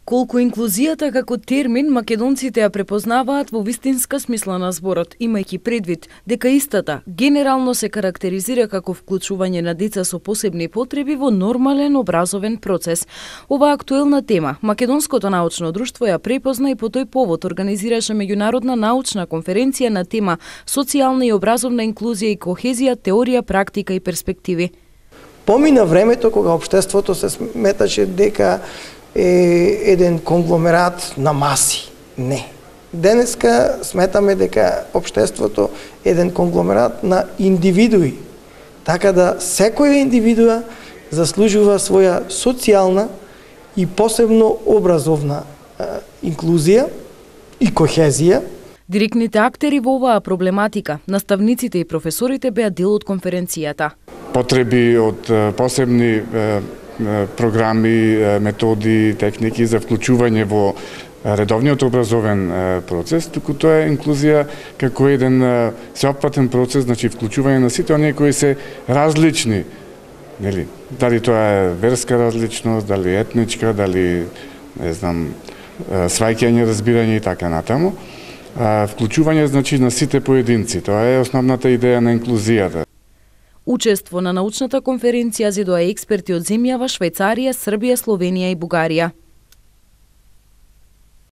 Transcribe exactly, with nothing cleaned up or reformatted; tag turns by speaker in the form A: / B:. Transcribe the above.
A: Колку инклузијата како термин македонците ја препознаваат во вистинска смисла на зборот, имајќи предвид дека истата генерално се карактеризира како вклучување на деца со посебни потреби во нормален образовен процес. Ова актуелна тема Македонското научно друштво ја препозна и по тој повод организираше меѓународна научна конференција на тема Социјална и образовна инклузија и кохезија, теорија, практика и перспективи.
B: Помина времето кога општеството се сметаше дека е еден конгломерат на маси. Не. Денеска сметаме дека општеството е еден конгломерат на индивидуи. Така да секоја индивидуа заслужува своја социјална и посебно образовна е, инклузија и кохезија.
A: Директните актери во оваа проблематика, наставниците и професорите беа дел од конференцијата.
C: Потреби од посебни програми, методи, техники за вклучување во редовниот образовен процес, туку тоа е инклузија како еден сеопфатен процес, значи вклучување на сите оние кои се различни, нели? Дали тоа е верска различност, дали етничка, дали не знам, сваќање, разбирање и така натаму. Вклучување значи на сите поединци, тоа е основната идеја на инклузијата.
A: Учество на научната конференција зедоа експерти од земјава Швајцарија, Србија, Словенија и Бугарија.